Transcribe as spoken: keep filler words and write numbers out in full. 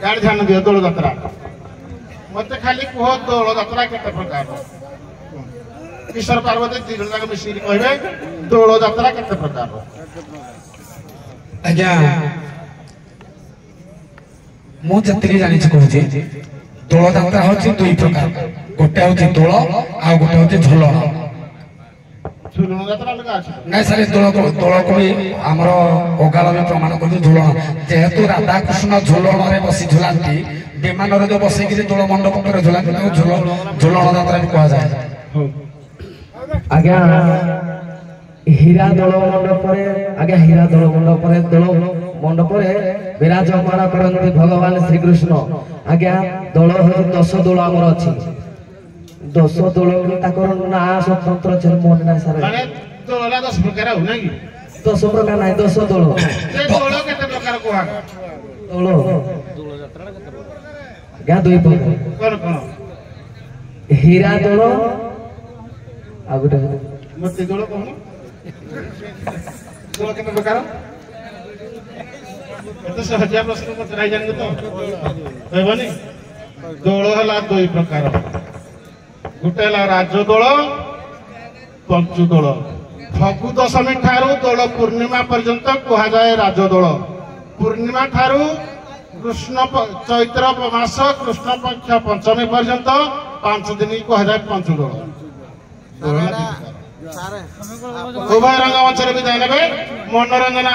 ଇଆଡ଼େ ଧ୍ୟାନ ଦିଅ। ଦୋଳ ଯାତ୍ରା ମତେ ଖାଲି କୁହ, ଦୋଳ ଯାତ୍ରା କେତେ ପ୍ରକାର? କିଶୋର ପାର୍ବତୀ ଦି ଜଣ ଯାକ ମିଶିକି କହିବେ, ଦୋଳ ଯାତ୍ରା କେତେ ପ୍ରକାର? ଆଜ୍ଞା, ମୁଁ ଯେତିକି ଜାଣିଛି କହୁଛି। ଦୋଳ ଯାତ୍ରା ହଉଛି ଦୁଇ ପ୍ରକାର। ଗୋଟେ ହଉଛି ଦୋଳ, ଆଉ ଗୋଟେ ହଉଛି ଝୁଲଣ। ଝୁଲଣ ଯାତ୍ରା ଅଲଗା ଅଛି? ନାଇଁ ସାର୍, ଦୋଳ ଦୋଳକୁ ବି ଆମର ଓଗାଳ ବି ପ୍ରମାଣ କରୁଛି ଝୁଲଣ। ଯେହେତୁ ରାଧାକୃଷ୍ଣ ଝୁଲଣରେ ବସି ଝୁଲାନ୍ତି, ବିମାନରେ ଯୋଉ ବସେଇକିରି ଦୋଳ ମଣ୍ଡପ ଉପରେ ଝୁଲାନ୍ତି, ତାକୁ ଝୁଲ ଝୁଲଣ ଯାତ୍ରା ବି କୁହାଯାଏ। ଆଜ୍ଞା, ହୀରା ଦୋଳ ମଣ୍ଡପରେ, ଆଜ୍ଞା, ହୀରା ଦୋଳ ମଣ୍ଡପରେ, ଦୋଳ ମଣ୍ଡପରେ ବିରାଜମାନ କରନ୍ତି ଭଗବାନ ଶ୍ରୀକୃଷ୍ଣ। ଆଜ୍ଞା, ଦୋଳ ହଉଛି ଦଶ ଦୋଳ ଆମର ଅଛି। ଦଶ ଦୋଳ ତାଙ୍କର ନାଁ ସ୍ୱତନ୍ତ୍ର ଅଛି, ମନେ ନାହିଁ ସାର୍। ମାନେ ଦୋଳଟା ଦଶ ପ୍ରକାର ଆଉ ନାଇଁ କି? ଦଶ ପ୍ରକାର ନାହିଁ, ଦଶ ଦୋଳ। ସେ ଦୋଳ କେତେ ପ୍ରକାର କୁହା? ଦୋଳ ଆଜ୍ଞା ଦୁଇ ପ୍ରକାର। କଣ କଣ? ହୀରା ଦୋଳ ଆଉ ଗୋଟେ ମତେ ଦୋଳ କହୁନ, ଦୋଳ କେତେ ପ୍ରକାର? ଏତେ ସହଜିଆ ପ୍ରଶ୍ନ ପଚରା ଜାଣିବୁ ତ କହିବନି। ଦୋଳ ହେଲା ଦୁଇ ପ୍ରକାର। ଗୋଟେ ହେଲା ରାଜ ଦୋଳ, ପଞ୍ଚୁ ଦୋଳ। ଫଗୁ ଦଶମୀ ଠାରୁ ଦୋଳ ପୂର୍ଣ୍ଣିମା ପର୍ଯ୍ୟନ୍ତ କୁହାଯାଏ ରାଜ ଦୋଳ। ପୂର୍ଣ୍ଣିମା ଠାରୁ କୃଷ୍ଣ ଚୈତ୍ର ମାସ କୃଷ୍ଣ ପକ୍ଷ ପଞ୍ଚମୀ ପର୍ଯ୍ୟନ୍ତ ପାଞ୍ଚ ଦିନ କୁହାଯାଏ ପଞ୍ଚୁ ଦୋଳ। ଉଭୟ ରଙ୍ଗମଞ୍ଚରେ ବିଦାୟ ନେବେ ମନୋରଞ୍ଜନ।